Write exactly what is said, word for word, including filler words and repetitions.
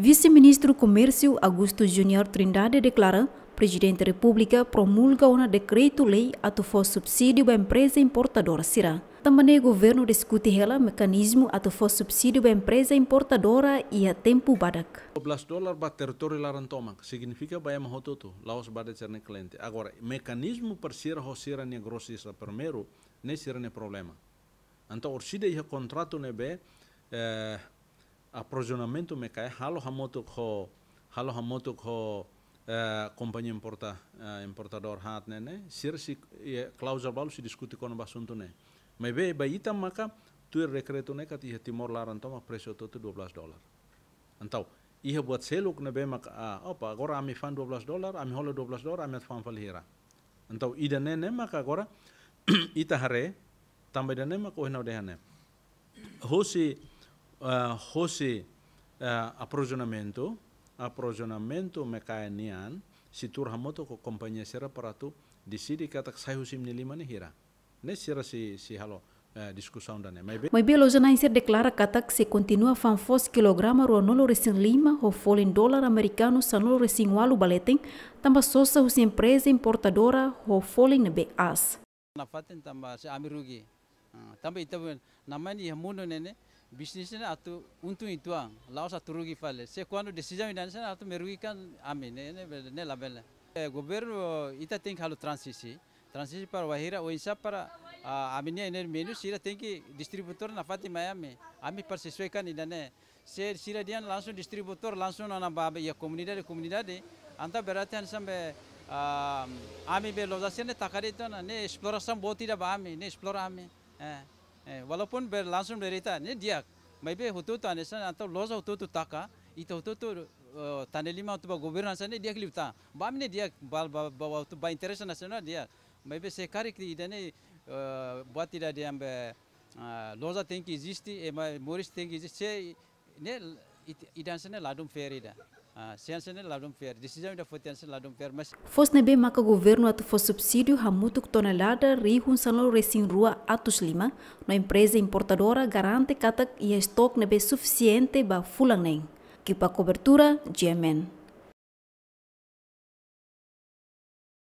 Vise-Ministru Komérsiu Augusto Junior Trindade deklara, Prezidente Repúblika promulga ona dekretu-lei atu fó subsídiu ba empreza importadora sira. Tanba ne'e governu diskute hela mekanizmu atu fó subsídiu ba empreza importadora iha tempu badak. Dua belas dolar ba territóriu laran tomak, signifika ba ema hotu-hotu, la'ós ba determinadu kliente. Agora, mekanizmu para sira ho sira-nia grosista primeiru, ne'e sira-nia problema. Entaun, orsida iha kontratu ne'ebé, eh, aprovizionamentu Mekaia, halo hamutuk ho, halo hamutuk ho, eh, kompañia importa, eh, importadór haat ne'e, ne'e, sira sei, eh, kláuzula balu sei diskute kona-ba asuntu ne'e. Maibé, ba ita maka, tuir dekretu ne'e katak iha Timor laran tomak presu hotu-hotu dua belas dolar. Entaun, iha buat seluk ne'ebé maka, ah, opa, agora ami fa'an dua belas dolar, ami hola dua belas dolar, ami atu fa'an fali hira. Entaun, ida-ne'e ne'e maka agora, ita haree, tanba ida-ne'e maka ohin ha'u dehan ne'e. Hosi, ah, hosi, ah, aprovizionamentu, aprovizionamentu Mekaia nian, sei tuur hamutuk ho kompañia sira para atu deside katak sai husi imi-nia liman ne'e hira. Ne'e sira sei, sei halo, eh, diskusaun ida-ne'e. Maibé, maibé loja-na'in sira deklara katak sei kontinua fa'an foos kilograma ruanulu-resin-lima ho folin dolar amerikanu sanulu-resin-ualu ba leten, tanba sosa husi empreza importadora ho folin ne'ebé aas. Nafatin tanba se ami rugi. Ah, tanba ita pun, namanya iha mundu ne'e ne'e, bisnis ne'e atu untung uitoan, la'ós atu rugi fali. Se kuandu desizaun ida-ne'e atu merugikan ami, ne'e, ne'e, ne'e labele. Eh, governu ita tenke halo transisi. Transisi para wainhira, oinsá para, ah, ami-nia energia menus, sira tenke distribuidór nafatin mai ami. Ami para sesuaikan ida-ne'e. Se sira dehan langsung distribuidór, langsung ona ba iha komunidade, komunidade. Entaun berarti hanesan be, ah, ami be loja sira-ne'e taka de'it ona, ne'e esplorasaun boot ida ba ami, ne'e esplora ami. Eh, eh, walaupun be langsung be ita, ne'e di'ak. Maibé hotu-hotu hanesan, entaun loja hotu-hotu taka, ita hotu-hotu, eh, tane liman atu ba governu hanesan ne'e di'ak liután. Ba ami ne'e di'ak, ba, ba, ba, ba, atu ba interese nasionál di'ak. Maibé se karik ida-ne'e, eh, buat ida dehan be, ah, loja tenke eziste, ema moris tenke eziste, se ne'e it-, ida hanesan ne'e ladún fair ida. Ah, se hanesan ne'e ladún fair. Desizaun ida foti hanesan ne'e ladún fair, mas foos ne'ebé maka governu atu fó subsídiu hamutuk tonelada rihun sanulu-resin-rua atus lima, no empreza importadora garante katak iha estok ne'ebé sufisiente ba fulan neen. Ekipa kobertura, G M N.